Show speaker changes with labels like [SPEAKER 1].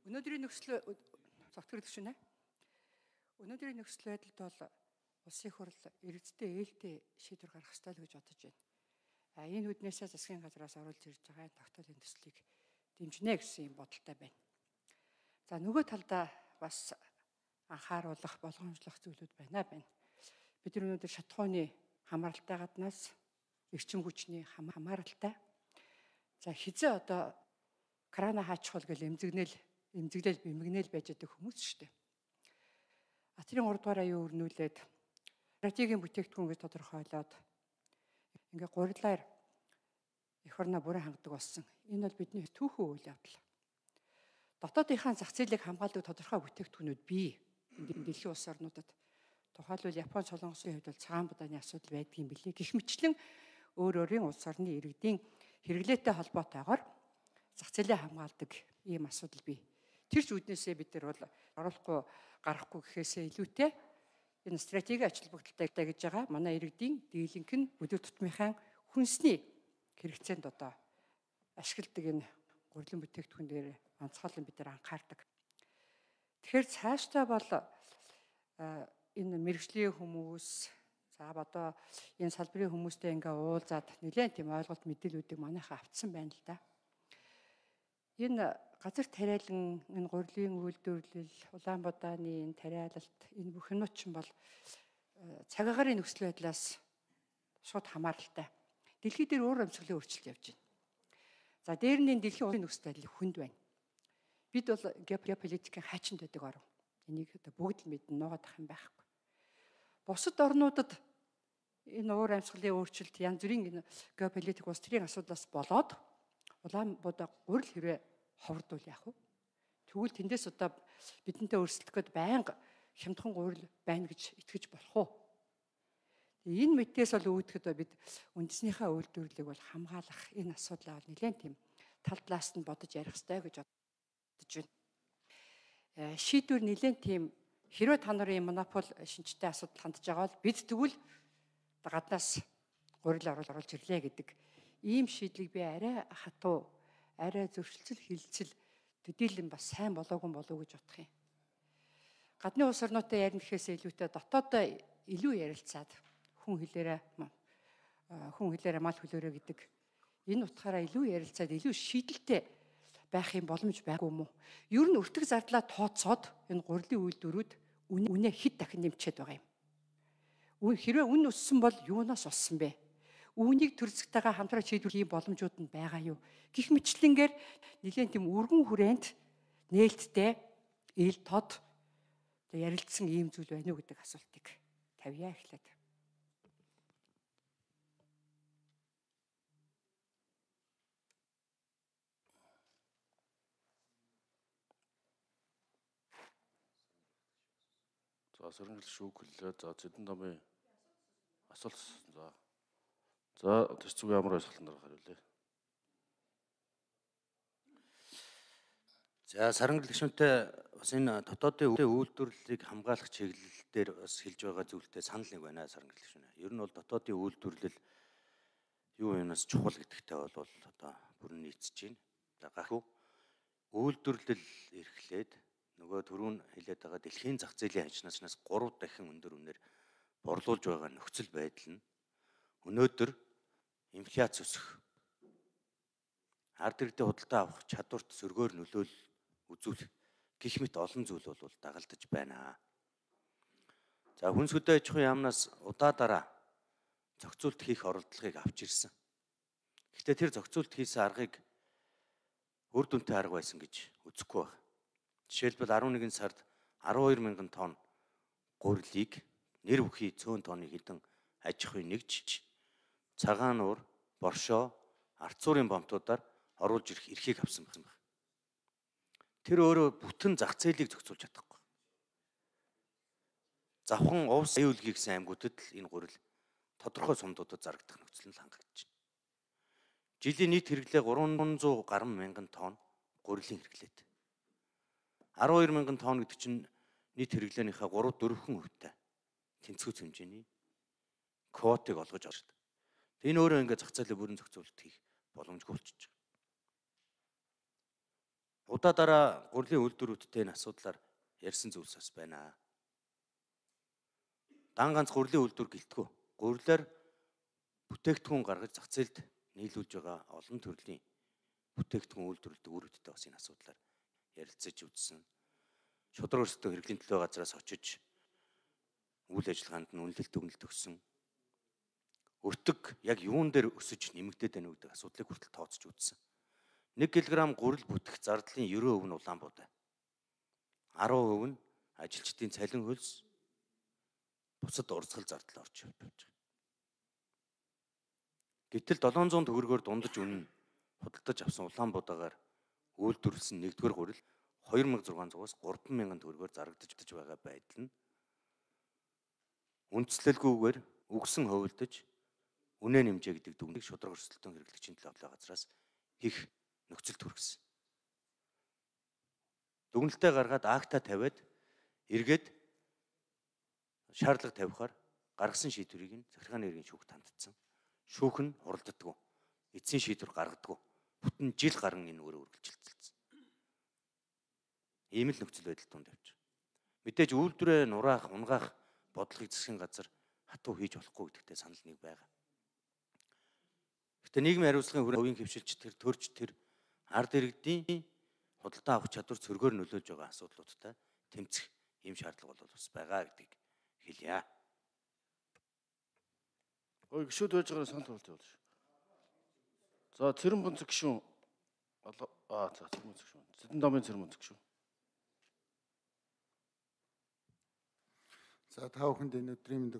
[SPEAKER 1] Өнөөдрийн нөхцөл зогтгөрдөг шинэ. Өнөөдрийн нөхцөл байдалд бол улсын хурл иргэдтэй ээлтэй шийдвэр гаргах ёстой л гэж бодож байна. Энэ үднээсээ засгийн газраас оруулж ирж байгаа тогтоолын төслийг дэмжинэ гэсэн юм бодолтой байна. За нөгөө талдаа бас анхааруулах, болгоомжлох зүйлүүд байна. Бид нар өнөөдөр шатхууны хамааралтай гаднаас эрчим хүчний хамааралтай. За хизээ одоо крана хаачихвал гэл эмзэглэл бимгнэл байж байгаа хүмүүс шүү дээ. Атрын 3 дугаар аюу өрнүүлээд стратегийн бүтээгдэхүүн гэж тодорхойлоод ингээ гурилаар эх орноо бүрэн хангадаг болсон. Энэ бол бидний түүхэн үйл явдал. Дотоодынхаа зах зээлийг хамгаалдаг тодорхой бүтээгдэхүүнүүд бий. Дэлхийн улс орнуудад тухайлбал Япон, Солонгосын хувьд бол цагаан будааны асуудал байдаг юм билээ. Гэх мэтчлэн өөр өөрийн улс орны иргэдийн хэрэглээтэй холбоотойгоор зах зээлээ хамгаалдаг ийм асуудал бий. Тэр ч үднээсээ бид нар бол оруулахгүй гарахгүй гэхээсээ илүүтэй энэ стратегийн ач холбогдолтой гэж байгаа манай иргэдийн дийлэнх нь бүдүүр тутмынхаа хүнсний хэрэгцээнд одоо ашигладаг энэ гурилан бүтээгдэхүүн дээр онцгойлон бид нар анхаардаг. Тэгэхээр цаашдаа бол энэ мэрэгжлийн хүмүүс за одоо энэ салбарын хүмүүстэй ингээ уулзаад нэлээд тийм ойлголт мэдээлүүдийг манайхаа авцсан байна л да. Энэ газар тариалан энэ гурилын үйлдвэрлэл, улаан будааны энэ тариалалт энэ бүх юмуд ч бол цаг агаарын нөхцөл байдлаас шууд хамааралтай. Дэлхий дээр өөр амьсгалын өөрчлөлт явж байна. За дээр нь дэлхийн нөхцөл байдал хүнд байна. Бид бол геополитикийн хайчинд байдаг орн. Энийг бүгд л мэднэ, нуугаад ах юм байхгүй. Бусад орнуудад энэ өөр амьсгалын өөрчлөлт янз бүрийн геополитик улс төрийн асуудлаас болоод улаан будаа гурил хэрэг ховрдуул яах вэ? Тэгвэл тэндээс одоо бидэнтэй өрсөлдөх гээд байнга хямдхан гурил байна гэж итгэж болох уу? Энэ мэдээс бол үүдхэд бид үндэснийхээ үйлдвэрлэлийг бол хамгаалах энэ асуудлаа бол нэлээд тийм тал талаас нь бодож ярих хэрэгтэй гэж бодож байна. Шийдвэр нэлээд тийм хэрвээ та нарын монопол шинжтэй асуудал хандж байгаа бол бид тэгвэл гаднаас гурил оруулж ирлээ гэдэг ийм шийдлийг би арай хатуу, арай зөрчилцөл хилцэл төдийлөн бас сайн болоогүй болов гэж бодох юм. Гадны улс орнуудтай ярих гэхээс илүүтэй дотоодоо илүү ярилцаад хүн хэлээрээ мал хөлөөрөө гэдэг энэ утгаараа илүү ярилцаад илүү шийдэлтэй байх юм боломж байггүй юм уу? Ер нь өртөг зардлаа тооцоод энэ гурилын үйлдвэрүүд үнэ хэд дахин нэмчихэд байгаа юм. Хэрвээ үн өссөн бол юунаас олсон бэ? Үүнийг төр зэгтэйгээ хамтран шийдвэрлэх боломжууд нь байгаа юу? Гэх мэтлэнгээр нэгэн тийм өргөн хүрээнд нээлттэй ил тод ярилцсан ийм зүйл байна уу гэдэг асуултыг тавья эхлээд.
[SPEAKER 2] За сөрөнгөл шүүхлээ. За зэдэн домын асуулт. За төсцөг ямар асуултанд хариулъя.
[SPEAKER 3] За сарангал гишүүнтэй бас энэ дотоодын үйлдвэрлэлийг хамгаалах чиглэл дээр бас хэлж байгаа зүйлтэй санал нэг байна сарангал гишүүнээ. Ер нь бол дотоодын үйлдвэрлэл юу юмнаас чухал гэдэгтэй бол одоо бүрэн нийцэж байна. За гахуу үйлдвэрлэл эрхлээд нөгөө түрүүн хэлээд байгаа дэлхийн зах зээлийн ханчнаас 3 дахин өндөр үнээр борлуулж байгаа нөхцөл байдал нь өнөөдөр инфляц өсөх, ард иргэдэд худалдаа авах чадварт сөргөөр нөлөөлөл үзүүлэх гэх мэт олон зүйл бол дагалдаж байна. За хүнс хөдөө аж ахуйн яамнаас удаа зохицуулт хийх оролдлогыг авч ирсэн. Гэхдээ тэр зохицуулт хийсэн аргыг үр дүнтэй арга байсан гэж үзэхгүй байна. Жишээлбэл 11 сард 12,000 тонн гурилыг нэр бүхий цөөн тонны хідэн аж ахуй нэгж цагаан нуур, боршоо, арцуурын бомтуудаар оруулж ирэх эрхийг авсан байна. Тэр өөрөө бүтэн зах зээлийг зохицуулж чадахгүй. Завхан увс аюул хийсэн аймагуудад л энэ гурил тодорхой сумдуудад зарагдах нөхцөл нь хангагдаж байна. Жилийн нийт хэрэглээ 300 гаруй мянган тонн гурилын хэрэглээд. 12,000 тонн гэдэг чинь нийт хэрэглээнийхээ 3-4% тэнцвүүц хэмжээний квотыг олгож авч байна. Энэ өөрөө ингээд зах зээлээ бүрэн зохицуулалт хийх боломжгүй болчихж байгаа. Удаа дараа гурилын үйлдвэрүүдтэй энэ асуудлаар ярьсан зүйлс бас байна. Дан ганц гурилын үйлдвэр гэлтгүү. Гурилаар бүтээгдэхүүн гаргаж зах зээлд нийлүүлж байгаа олон төрлийн бүтээгдэхүүн үйлдвэрлэдэг үр хөдөлтөй бас энэ асуудлаар ярилцаж үзсэн. Шудраг өрсөлдөөн хэрэглэлийн төлөө газраас очиж үйл ажиллагаанд нь үнэлэлт өгнөлт өгсөн. Өртөг яг юун дээр өсөж нэмэгдээд байна гэдэг асуудлыг хүртэл тооцож үзсэн. 1 кг гурил бүтэх зардлын 90% нь Улаанбуудай. 10% нь ажилчдын цалин хөлс, бусад урсгал зардал орж явж байгаа. Гэтэл 700 төгрөгөөр дундаж үнэн худалдаж авсан Улаанбуудаагаар үйлдвэрлэсэн 1-р гурил 2600-аас 3000 төгрөгөөр зарагдаж байгаа байдал нь үндслэлгүйгээр үгсэн хувилдаж үнэ нэмжээ гэдэг дүгнэлтийг шудраг өрсөлдөөн хэрэглэгчийн төлөө газраас хийх нөхцөлд хүргэсэн. Дүгнэлтээ гаргаад акта тавиад эргээд шаардлага тавихаар гаргасан шийдвэрийг нь захиргааны иргэн шүүхт хандсан. Шүүх нь хуралддаггүй. Эцсийн шийдвэр гаргадаггүй. Бүтэн жил гарan энэ өөрөө үргэлжилсэн. Ийм л нөхцөл байдал тунд явж байгаа. Мэдээж үйлдвэрээ нураах, унгаах бодлогыг засгийн газар хатуу хийж болохгүй гэдэгтээ санал нэг байгаа. Гэтэ нийгмийн хариуцлагын хувийн хөвшилч тэр төрж тэр ард иргэдийн худалдаа авах чадвар цөргөөр нөлөөлж байгаа асуудлуудтай тэмцэх ийм шаардлага бол бас байгаа гэдгийг хэлье.
[SPEAKER 2] Ой гişүүд байж байгаа санал болж байна шүү. За Цэрэн бунцэг гişүүн. За Цэрэн бунцэг гişүүн. Зэдэн дамын Цэрэн бунцэг гişүүн.
[SPEAKER 4] За та бүхэнд энэ өдрийн мэндийг